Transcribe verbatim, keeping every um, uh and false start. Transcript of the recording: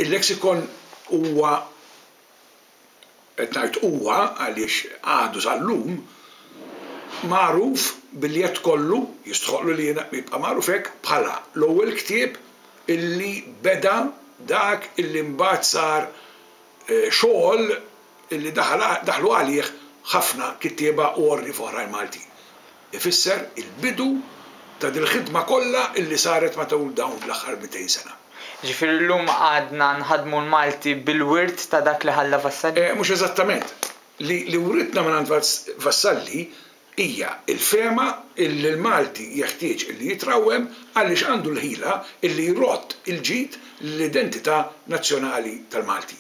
Il-lexikon huwa, qed ngħid huwa għaliex għadu sal-lum magħruf bil-jedd kollu, jistħoqqlu li jibqa' magħruf hekk, bħala l-ewwel ktieb illi beda dak illi mbagħad sar xogħol illi daħlu għalih ħafna kittieba u għorrief oħrajn Maltin. Ifisser il-bidu ta' dil-ħidma kollha illi saret matul dawn l-aħħar mitejn sena. Ġifieri llum għadna nħaddmu l-Malti bil-wirt ta' dak li ħalla Vassalli? Mhux eżattament. Li writna mingħand Vassalli hija l-fehma illi l-Malti jeħtieġ illi jitrawwem għaliex għandu l-ħila illi jrodd il-ġid lill-identità nazzjonali tal-Malti.